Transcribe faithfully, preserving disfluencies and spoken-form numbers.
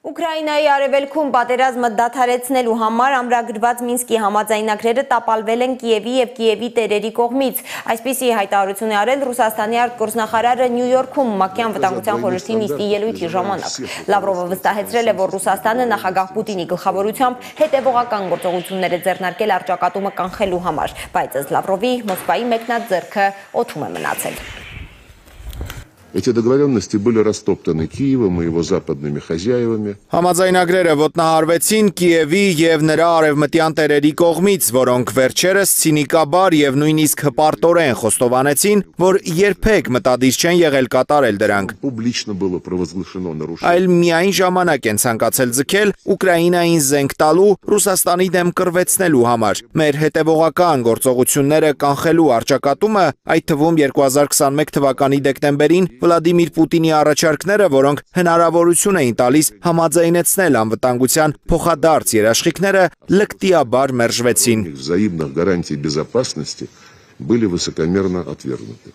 Ուկրաինայի արևելքում պատերազմը դադարեցնելու համար ամրագրված Մինսկի համաձայնագրերը տապալվել են Կիևի և Կիևի տերերի կողմից։ Այսպիսի հայտարարություն է արել Ռուսաստանի արտգործնախարարը Նյու Յորքում ՄԱԿ-ի անվտանգության խորհրդի նիստի ելույթի ժամանակ։ Լավրովը վստահեցրել է, որ Ռուսաստանը նախագահ Պուտինի գլխավորությամբ հետևողական գործողություններ է ձեռնարկել առճակատումը կանխելու համար, բայց ըստ Լավրովի Մոսկվայի մեկնած ձեռքը օդում է մնացել։ Эти договоренности были растоптаны Киевом и его западными хозяевами. Համաձայնագրերը ոտնահարվեցին Կիևի եւ նրա արևմտյան տերերի կողմից, որոնք վերջերս ցինիկաբար եւ նույնիսկ հպարտորեն խոստովանեցին, որ երբեք մտադիր չեն եղել կատարել դրանք։ Публично было провозглашено нарушение. Այլ միայն ժամանակ են ցանկացել ձգել Ուկրաինային զենք տալու, Ռուսաստանի դեմ կռվեցնելու համար։ Մեր հետևողական գործողությունները կանխելու առճակատումը, այդ թվում երկու հազար քսանմեկ թվականի դեկտեմբերին Վլադիմիր Պուտինի առաջարկները, որոնք հնարավորություն էին տալիս համաձայնեցնել անվտանգության փոխադարձ երաշխիքները, լկտիաբար մերժվեցին։ Взаимных гарантий безопасности были высокомерно отвергнуты.